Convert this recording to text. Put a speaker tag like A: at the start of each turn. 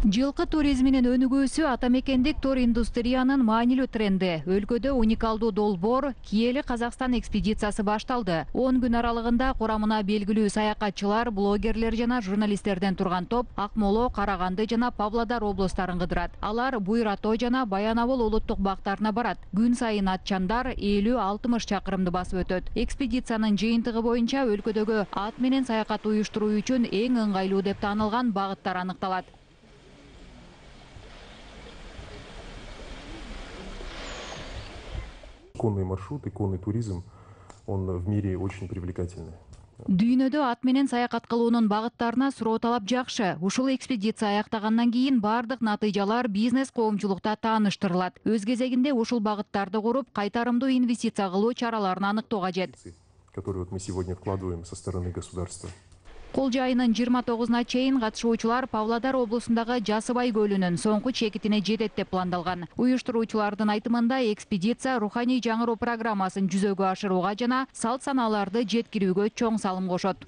A: Жылкы туризминин өнүгүүсү ата мекендик тур индустриянын маанилүү тренди. Өлкөдө уникалдуу долбоор Киели Казакстан экспедициясы башталды. 10 күн аралыгында курамына белгилүү саякатчылар, блогерлер жана журналисттерден турган топ Акмола, Караганды жана Павлодар облустарын кыдырат. Алар Буйр Ато жана Баянабыл улуттук бактарына барат. Күн сайын атчандар 50-60 чакырымды басып өтөт. Экспедициянын жыйынтыгы боюнча өлкөдөгү ат менен саякат уюштуруу үчүн эң ыңгайлуу деп таанылган багыттар аныкталат.
B: Конный маршрут и конный туризм, он в мире очень привлекательный.
A: Дүйнөдө ат менен саякат кылуунун багыттарына суроо талап жакшы. Ушул экспедиция аяктагандан кийин бардык натыйжалар бизнес коомчулукта тааныштырылат. Өз кезегинде ушул багыттарды куруп, кайтарымдуу инвестиция кылуу чараларын аныктоо кажет.
B: Которые мы сегодня вкладываем со стороны государства.
A: Колжо айынын 29-на чейин катышуучулар Павлодар облусундагы Жасыбай көлүнүн соңку чекитине жетет деп пландалган. Уюштуруучулардын айтымында экспедиция руханий жаңыруу программасын жүзөгө ашырууга жана салт санааларды жеткирүүгө чоң салым кошот.